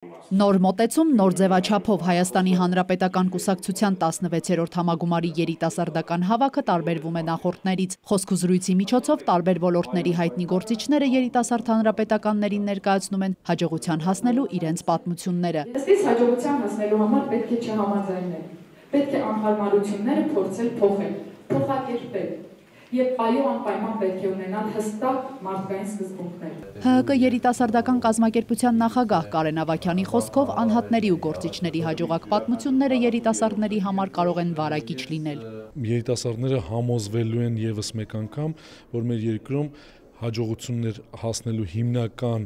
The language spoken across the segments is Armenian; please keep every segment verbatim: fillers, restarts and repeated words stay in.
Նոր մոտեցում, նոր ձևաչափով Հայաստանի Հանրապետական կուսակցության տասնվեցերորդ համագումարի երիտասարդական հավաքը տարբերվում է նախորդներից։ Խոսքուզրույցի միջոցով տարբեր ոլորտների հայտնի գործիչները երիտասարդ հանրապետականներին ներկայացնում են հաջողության հասնելու իրենց պատմությունները։ Ըստ հաջողության հասնելու համար պետք է չհամաձայնել, պետք է անհարմարությունները փորձել փոխել, փոխակերպել։ Եվ այո, անպայման պետք է ունենալ հստակ մարդկային սկզբունքներ։ Հ Հ Կ երիտասարդական կազմակերպության նախագահ Կարեն Ավագյանի խոսքով անհատների ու գործիչների հաջողակ պատմությունները երիտասարդների համար կարող են վարակիչ լինել։ Երիտասարդները համոզվելու են եւս մեկ անգամ, որ մեր երկրում հաջողություններ հասնելու հիմնական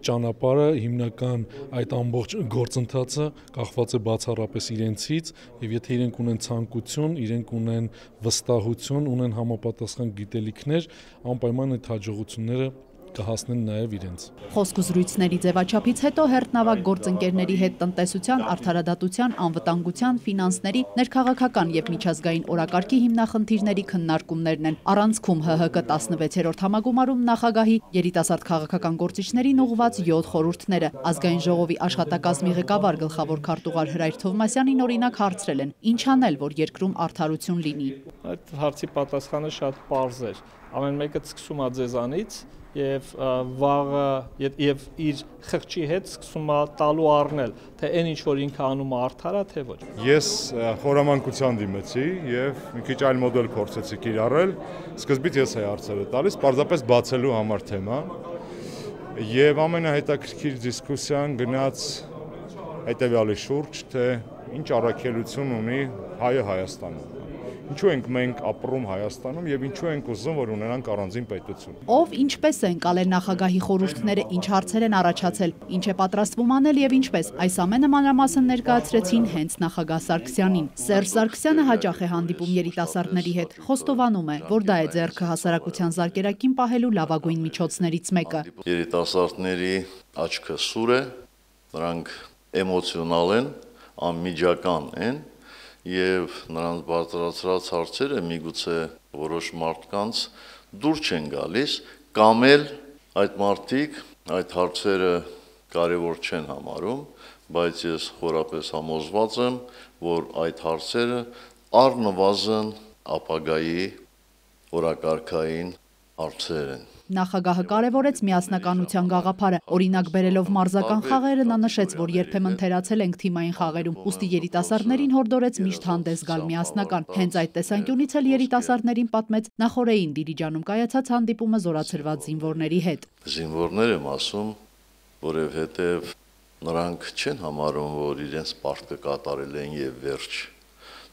ճանապարհը, հիմնական այդ ամբողջ գործընթացը կախված է բացառապես իրենցից, եւ եթե իրենք ունեն ցանկություն, իրենք ունեն վստահություն, ունեն համապատասխան գիտելիքներ, անպայման այդ հաջողությունները կհասնեն նաև իրենց։ Խոսքուզրույցների ձևաչափից հետո հերթնավակ գործընկերների հետ տնտեսության, արդարադատության, անվտանգության, ֆինանսների, ներքաղաքական եւ միջազգային օրակարգի հիմնախնդիրների քննարկումներն են։ Առանցքում Հ Հ Կ տասնվեցերորդ համագումարում նախագահի երիտասարդ քաղաքական գործիչներին ուղղված յոթ խորհուրդները ազգային ժողովի աշխատակազմի ղեկավար գլխավոր քարտուղար Հրայր Թովմասյանին օրինակ հարցրել են. ինչ անել, որ երկրում արդարություն լինի։ Այդ հարցի պատասխանը շատ պարզ էր։ Ամեն մեկը սկսում է ձեզանից եւ վաղը եւ իր խղճի հետ սկսում է տալու առնել, թե այն ինչ որ ինքը անում է արդար է, թե ոչ։ Ես խորամանկության դիմեցի եւ մի քիչ այլ մոդել փորձեցի կիրառել։ Սկզբից ես էի հարցերը տալիս, պարզապես բացելու համար թեման։ Եվ ամենահետաքրքիր դիսկուսիան գնաց հետեւյալի շուրջ, թե ինչ առաքելություն ունի հայը Հայաստանում։ Ինչու ենք մենք ապրում Հայաստանում եւ ինչու ենք ուզում, որ ունենանք առանձին պետություն։ Ով ինչպես են կալել նախագահի խորհուրդները, ինչ հարցեր են առաջացել, ինչ է պատրաստվում անել եւ ինչպես, այս ամենը մանրամասն ներկայացրեցին հենց նախագահ Սարգսյանին։ Սերժ Սարգսյանը հաճախ է հանդիպում երիտասարդների հետ, խոստովանում է, որ դա է ձեռքը հասարակության զարկերակին պահելու լավագույն միջոցներից մեկը։ Երիտասարդների աչքը սուր է, նրանք էմոցիոնալ են, անմիջական են եւ նրանց բարձրացրած հարցերը միգուցե որոշ մարդկանց դուր չեն գալիս, կամ էլ այդ մարդիկ այդ հարցերը կարևոր չեն համարում, բայց ես խորապես համոզված եմ, որ այդ հարցերը առնվազն ապագայի օրակարգային հարցեր են։ Նախագահը կարևորեց միասնականության գաղափարը, օրինակ բերելով մարզական խաղերը, նա նշեց, որ երբեմն թերացել ենք թիմային խաղերում, ուստի երիտասարդներին հորդորեց միշտ հանդես գալ միասնական։ Հենց այդ տեսանկյունից էլ երիտասարդներին պատմեց նախօրեին Դիլիջանում կայացած հանդիպումը զորացրված զինվորների հետ։ Զինվորներ եմ ասում, որովհետև նրանք չեն համարում, որ իրենց պարտքը կատարել են եւ վերջ։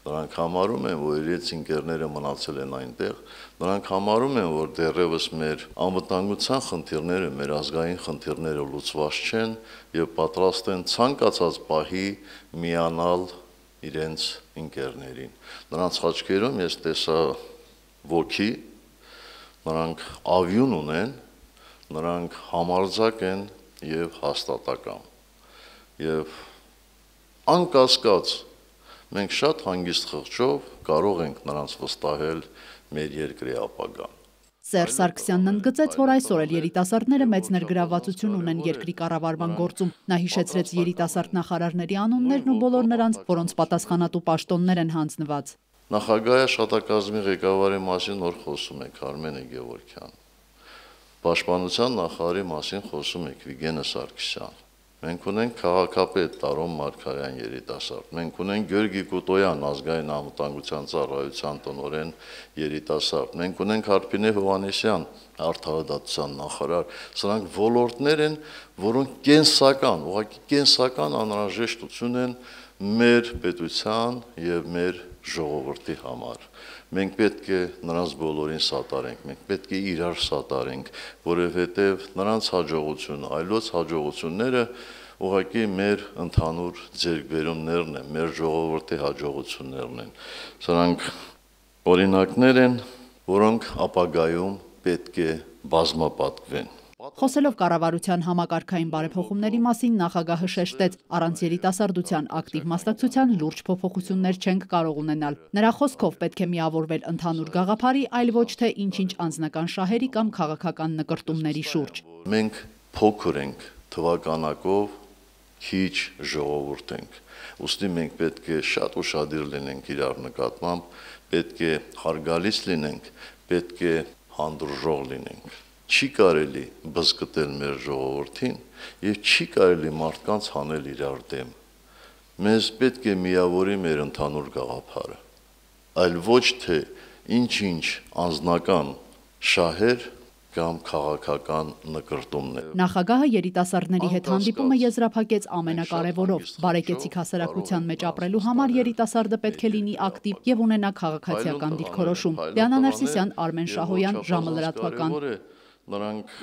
Նրանք համարում են, որ իրենց ընկերները մնացել են այնտեղ, նրանք համարում են, որ դեռևս մեր անվտանգության խնդիրները, մեր ազգային խնդիրները լուծված չեն եւ պատրաստ են ցանկացած պահի միանալ իրենց ընկերներին։ Նրանց աչքերում ես տեսա ոգի, նրանք ավյուն ունեն, նրանք համարձակ են եւ հաստատակամ։ Եվ անկասկած մենք շատ հանգիստ խղճով կարող ենք նրանց վստահել մեր երկրի ապագան։ Սերժ Սարգսյանն ընդգծեց, որ այսօր էլ երիտասարդները մեծ ներգրավվածություն ունեն երկրի կառավարման գործում։ Նա հիշեցրեց երիտասարդ նախարարների անուններն ու բոլոր նրանց, որոնց պատասխանատու պաշտոններ են հանձնված։ Նախագահի աշխատակազմի ղեկավարի մասին նոր խոսում եք Արմենե Գևորգյան։ Պաշտպանության նախարարի մասին խոսում եք Վիգենը Սարգսյան։ Մենք ունենք քաղաքապետ Տարոն Մարգարյան երիտասարդ, մենք ունենք Գյորգի Կուտոյան ազգային անվտանգության ծառայության տնօրեն երիտասարդ, մենք ունենք Հարփինե Հովհաննիսյան արդարադատության նախարար, սրանք ոլորտներ են, որոնք կենսական, ուղղակի կենսական անհրաժեշտություն են մեր պետության եւ մեր ժողովրդի համար։ Մենք պետք է նրանց բոլորին սատարենք, մենք պետք է իրար սատարենք, որովհետև նրանց հաջողությունը, այլոց հաջողությունները ուղղակի մեր ընդհանուր ձեռքբերումներն են, մեր ժողովրդի հաջողություններն են։ Սրանք օրինակներ են, որոնք ապագայում պետք է բազմապատկվեն։ Խոսելով կառավարության համակարգային բարեփոխումների մասին, նախագահը շեշտեց, առանց երիտասարդության ակտիվ մասնակցության լուրջ փոփոխություններ չենք կարող ունենալ։ Նրա խոսքով պետք է միավորվել ընդհանուր գաղափարի, այլ ոչ թե ինչ-ինչ անձնական շահերի կամ քաղաքական նկրտումների շուրջ։ Մենք փոքր ենք թվականակով քիչ ժողովուրդ ենք։ Ուստի մենք պետք է շատ ուշադիր լինենք իրար նկատմամբ, պետք է հարգալից լինենք, պետք է հանդուրժող լինենք։ Չի կարելի բզկտել մեր ժողովրդին եւ չի կարելի մարդկանց հանել իրար դեմ։ Մեզ պետք է միավորի մեր ընդհանուր գաղափարը, այլ ոչ թե ինչ-ինչ անձնական շահեր կամ քաղաքական նկրտումներ։ Նախագահը երիտասարդների հետ հանդիպումը եզրափակեց ամենակարևորով՝ բարեկեցիկ հասարակության մեջ ապրելու համար երիտասարդը պետք է լինի ակտիվ եւ ունենա քաղաքացիական դիրքորոշում։ Դիանա Ներսիսյան, Արմեն Շահոյան, ժամը լրատվական։ Նրանք